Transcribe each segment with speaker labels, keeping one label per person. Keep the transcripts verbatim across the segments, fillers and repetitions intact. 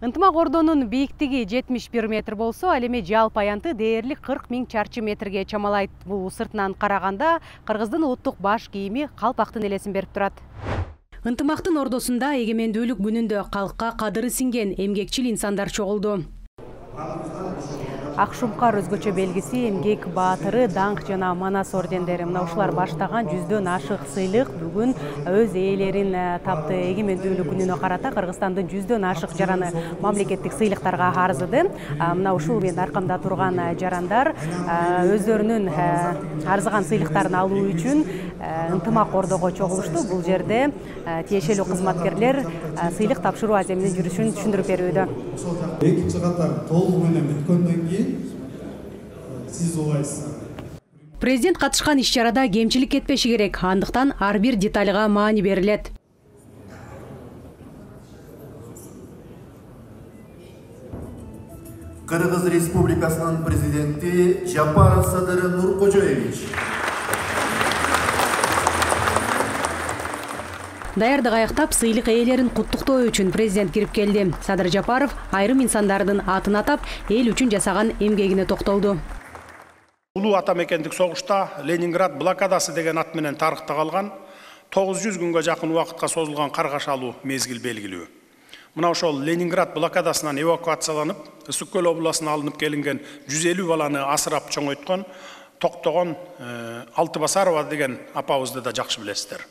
Speaker 1: Ынтымак Ордонун бийиктиги жетимиш бир метр болсо, ал эми жалпы аянты дээрлик кырк миң чарчы метрге чамалайт. Бул сыртынан караганда Кыргыздын улуттук баш кийими калпактын элесин берип турат. Ынтымактын ордосунда эгемендүүлүк күнүндө калкка кадыры сиңген эмгекчил инсандар чогулду. Ак шумкар өзгөчө белгиси, эмгек баатыры, даңк жана манас ордендери. Мына ушулар баштаган жүздөн ашык сыйлык бүгүн өз ээлерин тапты. Эгемендүүлүк күнүнө карата Кыргызстандын жүздөн ашык жараны мамлекеттик сыйлыктарга арзыды. Мына ушул мен аркамда турган жарандар өздөрүнүн арзыган сыйлыктарын алуу үчүн Ынтымак Ордого чогулушту. Бул жерде тиешелүү кызматкерлер сыйлык тапшыруу аземинин жүрүшүн түшүндүрүп берүүдө.
Speaker 2: Экинчи катар толугу менен бүткөндөн кийин сиз улайсыз.
Speaker 1: Президент катышкан иш-чарада кемчилик кетпеши керек. Андыктан ар бир детальга маани берилет.
Speaker 3: Кыргыз Республикасынын президенти Жапаров Садыр Нуркожоевич.
Speaker 1: Даярдык аяктап, сыйлык ээлерин куттуктоо үчүн президент кирип келди. Садыр Жапаров айрым инсандардын атын атап, эл үчүн жасаган эмгегине токтолду.
Speaker 4: Улуу атамекендик согушта Ленинград блокадасы деген ат менен тарыхта калган тогуз жүз күнгө жакын убакытка созулган каргашалуу мезгил белгилүү. Мына ошол Ленинград блокадасынан эвакуацияланып, Ысык көл областына алынып келинген жүз элүү баланы асырап чоңойткон Токтогон Алтыбасарова деген апабызды да жакшы билесиздер.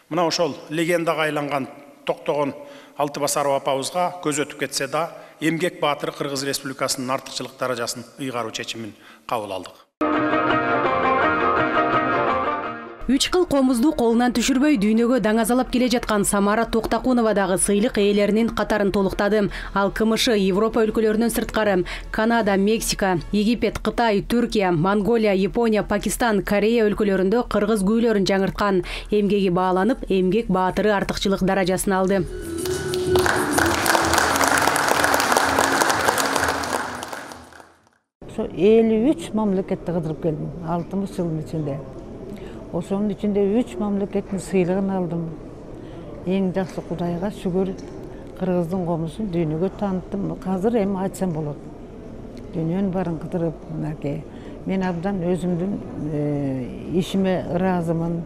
Speaker 4: Мына ошол легендага айланган Токтогон Алтыбасарова апабызга көз өтүп кетсе да, эмгек баатыры Кыргыз Республикасынын артыкчылык даражасын ыйгаруу чечимин кабыл алдык.
Speaker 1: Үч кыл комузду колунан түшүрбөй дүйнөгө даңазалап келе жаткан Самара Токтакунова дагы сыйлык ээлеринин катарын толуктады. Ал КМШ, Европа өлкөлөрүнөн сырткары Канада, Мексика, Египет, Кытай, Түркия, Монголия, Япония, Пакистан, Корея өлкөлөрүндө кыргыз күүлөрүн жаңырткан. Эмгеги бааланып, эмгек баатыры артыкчылык даражасын алды.
Speaker 5: элүү үч мамлекетти кыдырып келдим алтымыш жылдын ичинде. Ошонун ичинде үч мамлекеттин сыйлыгын алдым. Эң жакшы Кудайга шүгүр, Кыргыздын комузун дүйнөгө таныттым. Азыр эми айтсам болот. Дүйнөнүн баарын кыдырып, мынакей. Мен абдан өзүмдүн ишиме ыраазымын.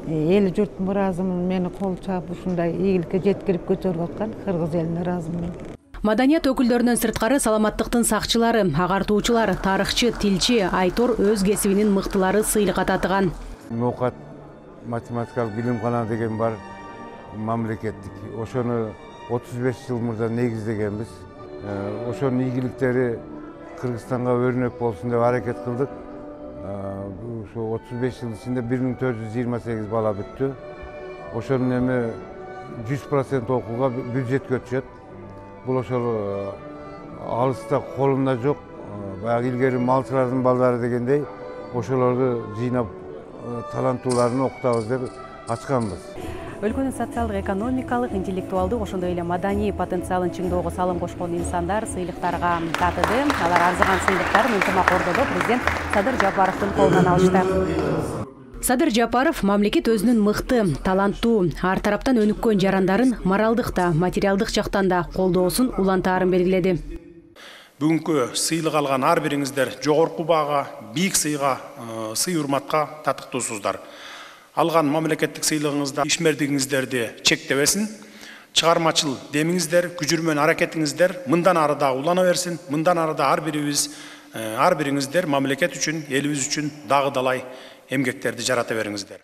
Speaker 5: Эл журтум ыраазымын. Мени кол чаап ушундай ийгиликке жеткирип көтөрүп аткан Кыргыз элине ыраазымын.
Speaker 1: Маданият өкүлдөрүнөн сырткары саламаттыктын сакчылары, агартуучулар, тарыхчы, тилчи, Айтор өз кесибинин мыктылары сыйлык ататыган.
Speaker 6: Ноокат математикалык билимкана деген бар мамлекеттик. Ошону отуз беш жыл мурда негиздегенбиз. Ошонун ийгиликтери Кыргызстанга өрнөк болсун деп аракет кылдык. Ошо отуз беш жыл ичинде бир миң төрт жүз жыйырма сегиз бала бүттү. Ошонун эми жүз процент окууга бюджетке түшөт. Бул ошол алыста колумда жок. Баягы илгери малчылардын балдары дегендей, ошолорду жыйнап таланттууларын окутабыз деп ачканбыз.
Speaker 1: Өлкөнүн социалдык, экономикалык, интеллектуалдык, ошондой эле маданий потенциалын чыңдоого салым кошкон инсандар сыйлыктарга татыды. Алар арзыган сыйлыктарын Ынтымак Ордодо президент Садыр Жапаровдун колунан алышты. Садыр Жапаров мамлекет өзүнүн мыкты, таланттуу, ар тараптан өнүккөн жарандарын моралдык да, материалдык жактан да колдоосун улантаарын белгиледи.
Speaker 4: Бүгүнкү сыйлык алган ар бириңиздер жогорку баага, бийик сыйга, сый урматка татыктуусуздар. Алган мамлекеттик сыйлыгыңызда ишмердигиңиздерди чектебесин, чыгармачыл демиңиздер, күжүрмөн аракетиңиздер мындан ары да улана берсин, мындан ары да ар бирибиз, ар бириңиздер мамлекет үчүн, элибиз үчүн дагы далай эмгектерди жарата бериңиздер.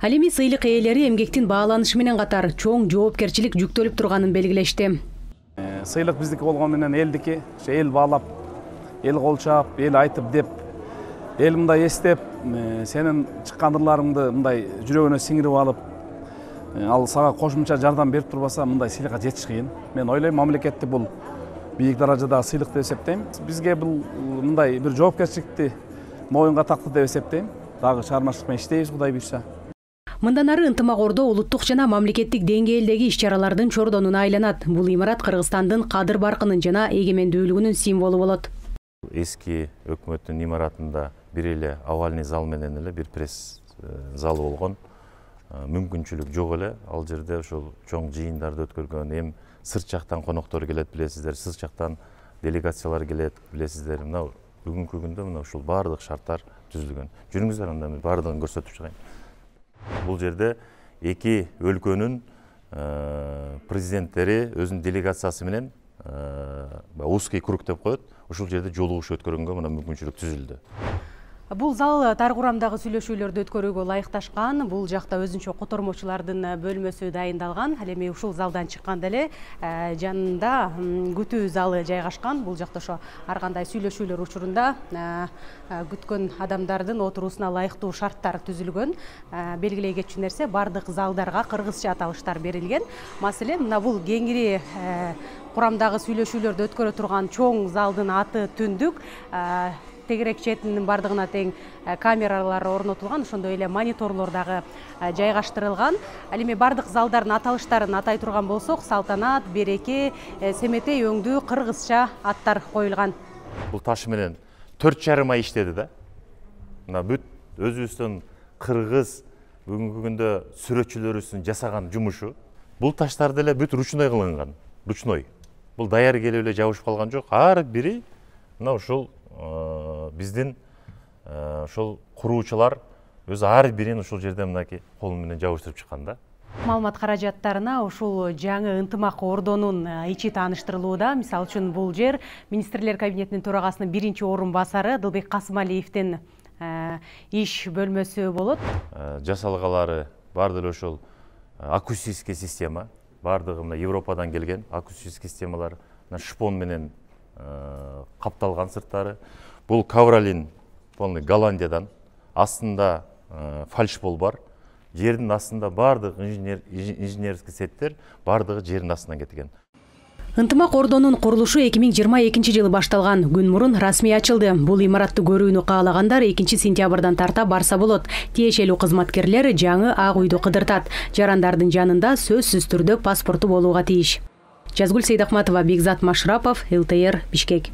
Speaker 1: Ал эми сыйлык ээлери эмгектин бааланышы менен катар чоң жоопкерчилик жүктөлүп турганын белгилешти.
Speaker 7: Сыйлык биздики болгон менен элдики, эл баалап, эл колчап, эл айтып деп, эл мындай эстеп, сенин чыккан ырларыңды мындай жүрөгүнө сиңирип алып, ал сага кошумча жардам берип турбаса, мындай сыйлыкка жетиш кыйын. Мен ойлойм, мамлекетти бул бийик даражада сыйлык деп эсептейм. Бизге бул мындай бир жоопкерчиликти моюнга такты деп эсептейм. Дагы чыгармачылык менен иштейбиз, Кудай буйрса.
Speaker 1: Мындан ары Ынтымак Ордо улуттук жана мамлекеттик деңгээлдеги иш-чаралардын чордонуна айланат. Бул имарат Кыргызстандын кадыр баркынын жана эгемендүүлүгүнүн символу болот.
Speaker 8: Эски өкмөттүн имаратында бир эле овальный зал менен эле бир пресс залы болгон. Мүмкүнчүлүк жок эле. Ал жерде ошол чоң жыйындарды өткөргөн, эм сырт жактан коноктор келет билесиздер, сырт жактан делегациялар келет билесиздер. Мына бүгүнкү күндө мына ушул баардык шарттар түзүлгөн. Жүрүңүздөр анда мен баардыгын көрсөтүп чыгайын. Бул жерде эки өлкөнүн президенттери өзүнүн делегациясы менен узкий круг деп коет. Ушул жерде жолугуш өткөргөнгө мына мүмкүнчүлүк түзүлдү.
Speaker 1: Бул зал тар курамдагы сүйлөшүүлөрдү өткөрүүгө ылайыкташкан. Бул жакта өзүнчө котормочулардын бөлмөсү дайындалган. Ал эми ушул залдан чыкканда эле жанында күтүү залы жайгашкан. Бул жакта ошо ар кандай сүйлөшүүлөр учурунда күткөн адамдардын отуруусуна ылайыктуу шарттар түзүлгөн. Белгилей кетчү нерсе, бардык залдарга кыргызча аталыштар берилген. Маселен, мына бул кеңири курамдагы сүйлөшүүлөрдү өткөрө турган чоң залдын аты Түндүк. Тегерек четинин бардыгына тең камералар орнотулган, ошондой эле мониторлор дагы жайгаштырылган. Ал эми бардык залдардын аталыштарын атай турган болсок, Салтанат, Береке, Семетей өңдүү кыргызча аттар коюлган.
Speaker 8: Бул таш менен төрт жарым ай иштеди да. Мына бүт өзүбүздүн кыргыз бүгүнкү күндө сүрөтчүлөрүбүздүн жасаган жумушу. Бул таштарды эле бүт ручной кылынган. Ручной. Бул даяр келип эле жабышып калган жок. Ар бири мына ушул биздин ошол куруучулар өзү ар бирин ушул жерде мынакей колу менен жабыштырып чыккан да.
Speaker 1: Маалымат каражаттарына ушул жаңы ынтымак ордонун ичи тааныштырылууда. Мисалы үчүн бул жер министрлер кабинетинин төрагасынын биринчи орун басары Дылбек Касымалиевдин иш бөлмөсү болот.
Speaker 8: Жасалгалары баардык эле ошол акустический система, баардыгы мына Европадан келген акустический системалар, шпон менен капталган сырттары. Бул ковролин полный Голландиядан. Астында фальшпол бар. Жердин астында баардык инженерский сеттер баардыгы жердин астынан кеткен.
Speaker 1: Ынтымак ордонун курулушу эки миң жыйырма экинчи жылы башталган. Күн мурун расмий ачылды. Бул имаратты көрүүнү каалагандар экинчи сентябрдан тарта барса болот. Тиешелүү кызматкерлер жаңы ак үйдү кыдыртат. Жарандардын жанында сөзсүз түрдө паспорту болууга тийиш. Жазгүл Сейдахматова, Бекзат Машрапов, эл тэ эр, Бишкек.